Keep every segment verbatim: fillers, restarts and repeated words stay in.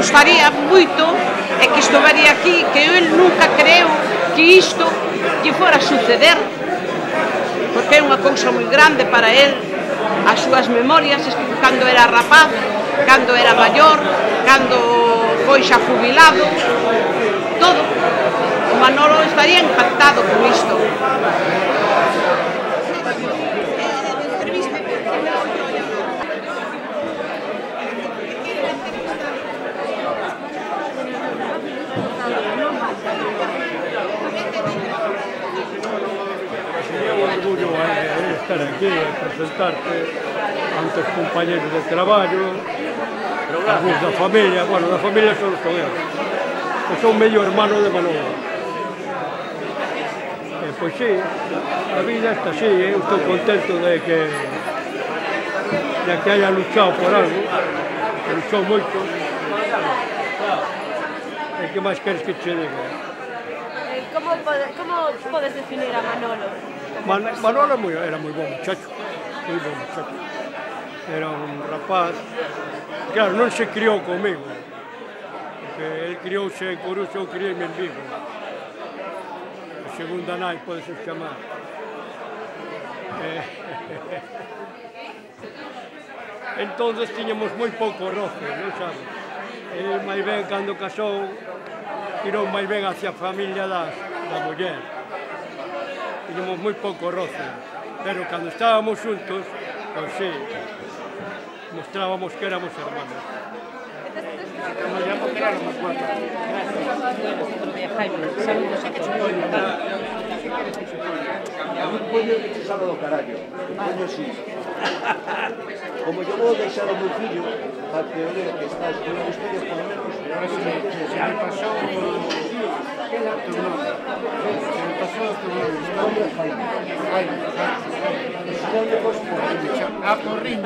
gustaría moito é que isto vería aquí, que el nunca creu que isto lle fora a suceder, porque é unha cousa moi grande para el, as súas memorias, cando era rapaz, cando era maior, cando foi xa jubilado, todo. O Manolo estaría impactado con isto. Orgullo de estar aquí e presentarte ante os compañeros de traballo, algúns da familia, bueno, da familia son os eu, que son medio hermano de Manolo. E, pois sí, a vida está así, eu estou contento de que de que haya luchado por algo, que luchou moito. E que máis queres que che diga? Como, pode, como podes definir a Manolo? Man, Manolo muy, era moi bom muchacho, moi bom muchacho. Era un rapaz, claro, non se criou comigo, porque el criouse en Coruxo, eu criei en Vigo. A segunda nai, podes chamar. Eh, entonces tiñamos moi pouco roce, non sabes? El máis ben, cando casou, tirou máis ben hacia a familia da, da muller. Tiñamos moi pouco roce, pero cando estábamos xuntos, pois sí, mostrábamos que éramos hermanos. A mí poño que te sabe do carallo, poño así. Como yo vou deixar o meu fillo, para que o lea que está escribindo historias, por lo menos, se me pasou o teu nome. Se me pasou o teu nome. Hombre, Jaime. Jaime, Jaime. Ah, Porriño.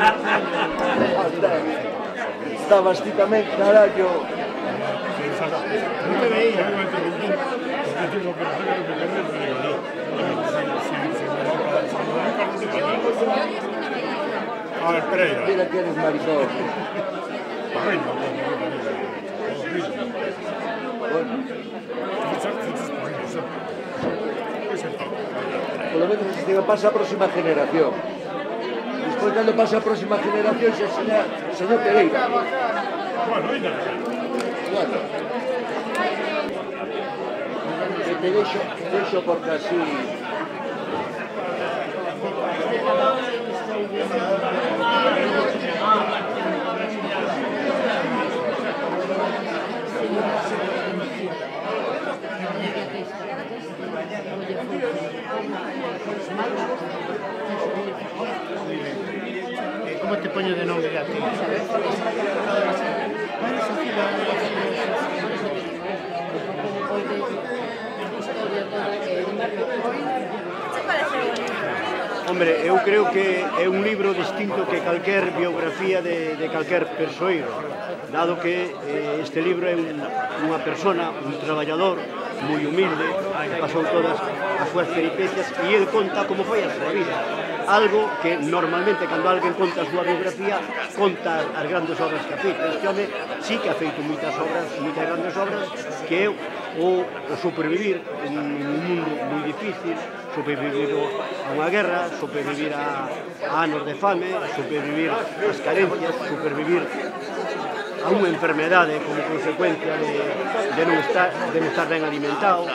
Estabas ti tamén, carallo. Non te veía. A ver, Pereira. Mira que eres maricón. Porriño. Bueno. Por lo menos se pasa a próxima generación. Despois, cando pasa a próxima generación, se enseña o señor Pereira. Bueno, ainda. Bueno. Que te deixo, deixo porque así... Como te poño de nome a ti? Hombre, eu creo que é un libro distinto que calquer biografía de, de calquer persoeiro, dado que eh, este libro é un, unha persona, un traballador moi humilde, que pasou todas as súas peripecias e ele conta como foi a súa vida. Algo que normalmente, cando alguén conta a súa biografía, conta as grandes obras que ha feito. Este home sí que ha feito moitas obras, moitas grandes obras, que é o, o supervivir en un mundo moi difícil, supervivir a unha guerra, supervivir a, a anos de fame, supervivir as carencias, supervivir a unha enfermedade como consecuencia de, de, non estar, de non estar ben alimentado,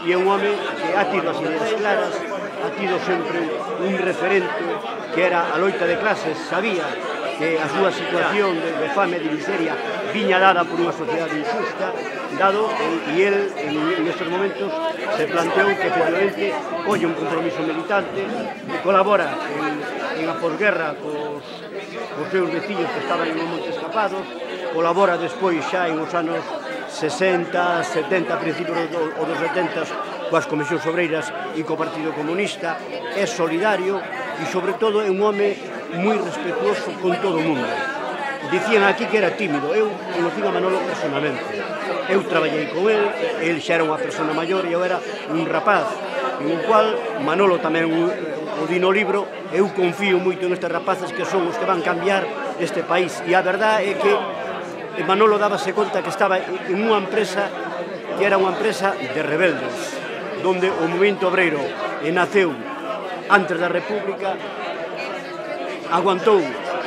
e é un home que ha tido as ideas claras, ha tido sempre un referente que era a loita de clases, sabía que a súa situación de, de fame, de miseria, viña dada por unha sociedade injusta, dado, e el en, en estes momentos se planteou que efectivamente colle un compromiso militante, que colabora en, en a posguerra cos, cos seus veciños que estaban en un monte escapados, colabora despois xa en os anos sesenta, setenta, principios dos setenta, coas comisións obreiras e co Partido Comunista, é solidario e, sobre todo, é un home moi respetuoso con todo o mundo. Dicían aquí que era tímido, eu conocí a Manolo personalmente. Eu traballei con el, el xa era unha persona maior e eu era un rapaz, en o cual Manolo tamén o di no libro, eu confío moito nestes rapaces que son os que van cambiar este país. E a verdade é que e Manolo dábase conta que estaba en unha empresa que era unha empresa de rebeldes, donde o movimento obreiro naceu antes da República, aguantou,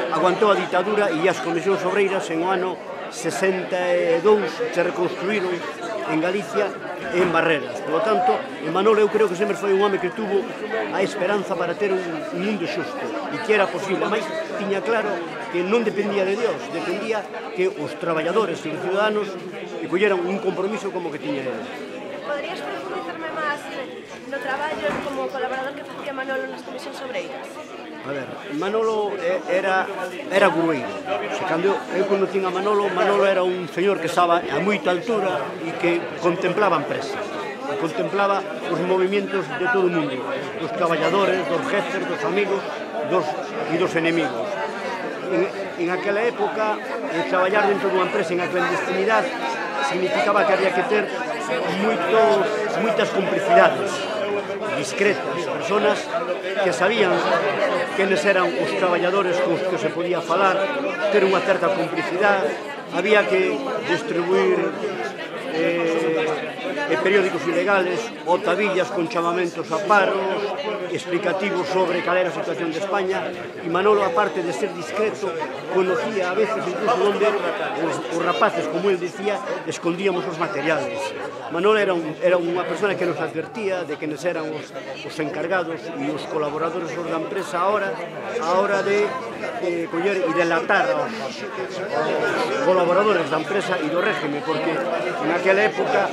aguantou a ditadura e as comisións obreiras en o ano sesenta e dous se reconstruíron en Galicia e en Barreras. Por lo tanto, Manolo eu creo que sempre foi un home que tuvo a esperanza para ter un, un mundo xusto e que era posible, mas tiña claro que non dependía de Dios, dependía que os traballadores e os ciudadanos colleran un compromiso como que tiña ele. Poderías profundizarme máis no traballo como colaborador que facía Manolo nas comisións obreiras? A ver, Manolo era, era grueiro. Se cando eu conocín a Manolo, Manolo era un señor que estaba a moita altura e que contemplaba a empresa. Contemplaba os movimentos de todo o mundo, dos traballadores, dos jefes, dos amigos dos, e dos enemigos. En, en aquela época, eh, traballar dentro dunha empresa en a clandestinidade significaba que había que ter moitos, moitas complicidades discretas, personas que sabían quenes eran os traballadores cos que se podía falar, ter unha certa complicidade, había que distribuir eh, periódicos ilegales ou tabillas con chamamentos a paros, explicativos sobre cal era a situación de España, e Manolo, aparte de ser discreto, conocía a veces incluso onde os, os rapaces, como él dicía, escondíamos os materiales. Manolo era, un, era unha persona que nos advertía de quenes eran os, os encargados e os colaboradores da empresa a hora, a hora de eh, coller e delatar aos, aos colaboradores da empresa e do régimen, porque naquela época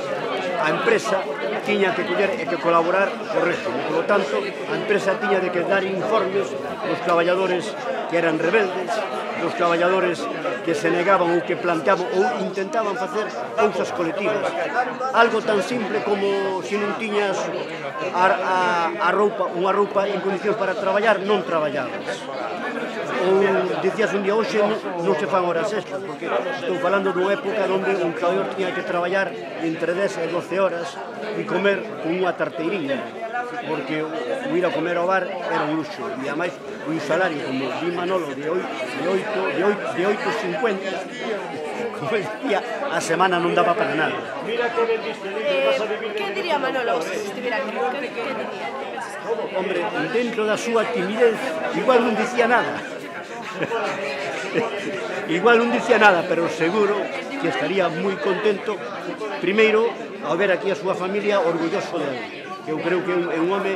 a empresa tiña que coller e que colaborar co régimen. Por lo tanto, a empresa tiña de que dar informes dos traballadores que eran rebeldes, dos traballadores que se negaban ou que planteaban ou intentaban facer cousas colectivas. Algo tan simple como se non tiñas a, a, a roupa, unha roupa en condicións para traballar, non traballabas. Ou dicías un día, hoxe non se fan horas extras, porque estou falando dunha época onde un traballador tiña que traballar entre dez e doce horas e comer con unha tarteiriña, porque o ir a comer ao bar era un luxo, e ademais un salario, como di Manolo, de oito e cincuenta, como decía, a semana non daba para nada. Eh, que diría Manolo se estivera aquí? Que, que diría? Hombre, dentro da súa timidez, igual non dicía nada. Igual non dicía nada, pero seguro que estaría moi contento, primeiro, ao ver aquí a súa familia orgulloso dele. Eu creo que é un home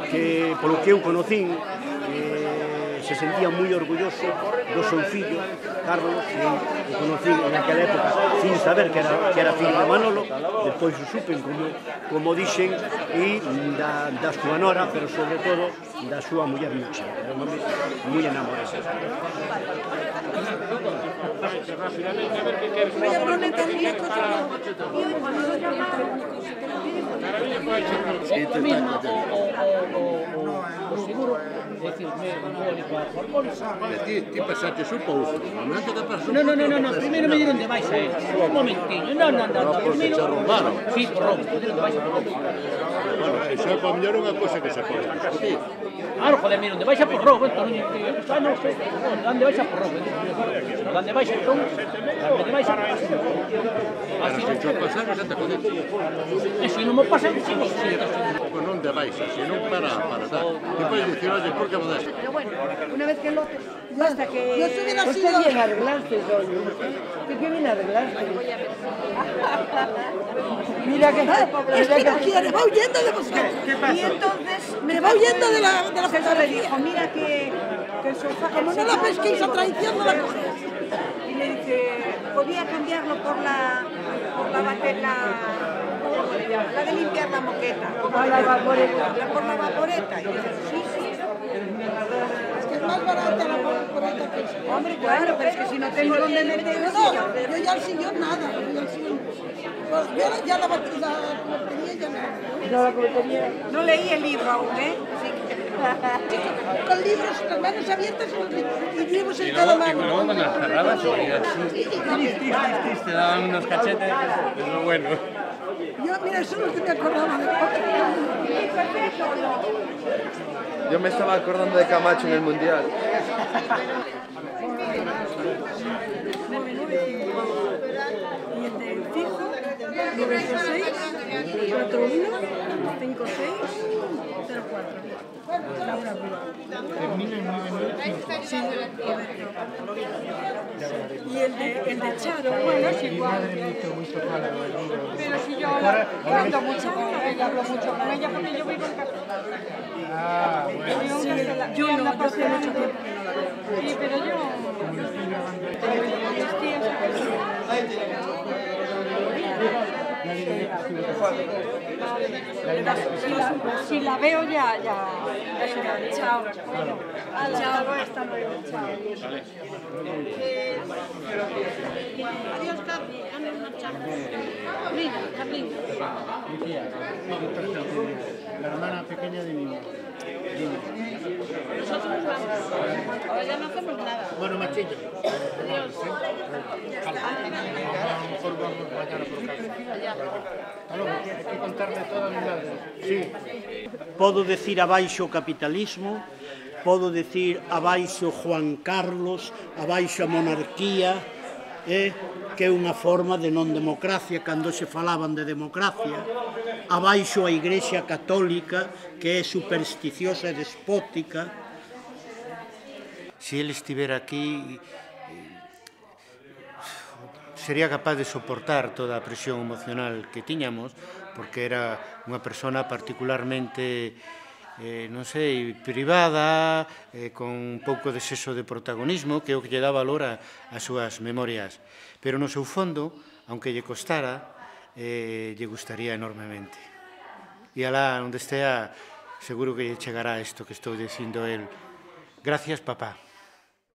que, polo que eu conocín, eh, se sentía moi orgulloso do seu fillo, Carlos, que eu o conocín en aquela época sin saber que era, que era fillo de Manolo, despois o supen, como, como dixen, e da, da súa nora, pero sobre todo da súa muller Mucha. Era un home moi enamorado. O seguro, decirme, Ti, ti pasaste un pouco, no momento que pasou... No, no, no, no, no, primeiro me dieron de baixa él, un momentiño, no, no, no, no, primeiro... Sí, por roubo, me dieron de baixa por roubo. Bueno, iso é para mellor unha cosa que se pode discutir. Claro, joder, me dieron de baixa por roubo, entón, ah, non sei, dan de baixa por roubo, dan de baixa, entón, dan de baixa por roubo. Pero se cho pasar, xa te jodiste. E se non me pasa, sigo, sigo. Pues non de baixa, senón para, para dar. Ti podes dicir, oye, por que modas? Pero bueno, una vez que lo... Basta que... Yo estuviera así... Usted viene a arreglarse, doña. ¿Usted qué viene a arreglarse? Mira que... Es que no quiere, va huyendo de vosotros. ¿Qué pasó? Y entonces... Me va huyendo de la, de la César le dijo, mira que, que el sofá... Como no la pesquéis a traición, no la cogéis. Y le dice, podía cambiarlo por la... por la batería... ¿Cómo le llaman? La de limpiar la moqueta. Por la vaporeta. Por la vaporeta. Y dice, sí, sí. Es que es más barata la vaporeta que eso. Hombre, claro, pero es que si no tengo dónde meter el No, sillón. yo ya el sillón nada. Yo, el sillón, pues yo ya la batería ya nada. No, la cometería. No leí el libro aún, ¿eh? Así que... Con libros, las manos abiertas y libros en cada mano. Y luego con las cerradas, te daban unos cachetes, pero bueno. Yo, mira, eso no es que me acordaba de... Yo me estaba acordando de Camacho en el Mundial. nueve ocho seis, cuatro uno, cinco seis, cero cuatro. Laura Bula. Termina en nueve nueve cinco. Sí, correcto. Y el de, el de Charo, bueno, es Mi igual. madre me hizo mucho mala del libro. Pero si yo hablo, yo hablo mucho con ella, hablo mucho con ella porque yo vivo en Cataluña. Ah, bueno. Vivo en Cataluña. Yo no, yo hace mucho tiempo que no la veo. Sí, pero yo... Mis tíos... Si la, si la veo ya, ya, ya será. Chao. Bueno, chao, hasta luego. Chao. Adiós, Carlos. ¿Dónde marchamos? Mira, Carlín. Mi tía, la hermana pequeña de mi madre. Nosotros nos vamos. Ahora ya no hacemos nada. Bueno, machillo. Adiós. A lo mejor vamos mañana por casa. Hasta luego, hay que contarle toda mi madre. Sí. Podo decir abaixo o capitalismo, podo decir abaixo Juan Carlos, abaixo a monarquía, eh, que é unha forma de non democracia cando se falaban de democracia, abaixo a Igrexa Católica, que é supersticiosa e despótica. Se ele estivera aquí, sería capaz de soportar toda a presión emocional que tiñamos, porque era unha persona particularmente, eh, non sei, privada, eh, con un pouco de exceso de protagonismo, que é o que lle dá valor a, a súas memorias. Pero no seu fondo, aunque lle costara, eh, lle gustaría enormemente. E alá onde estea, seguro que lle chegará isto que estou dicindo el. Gracias, papá.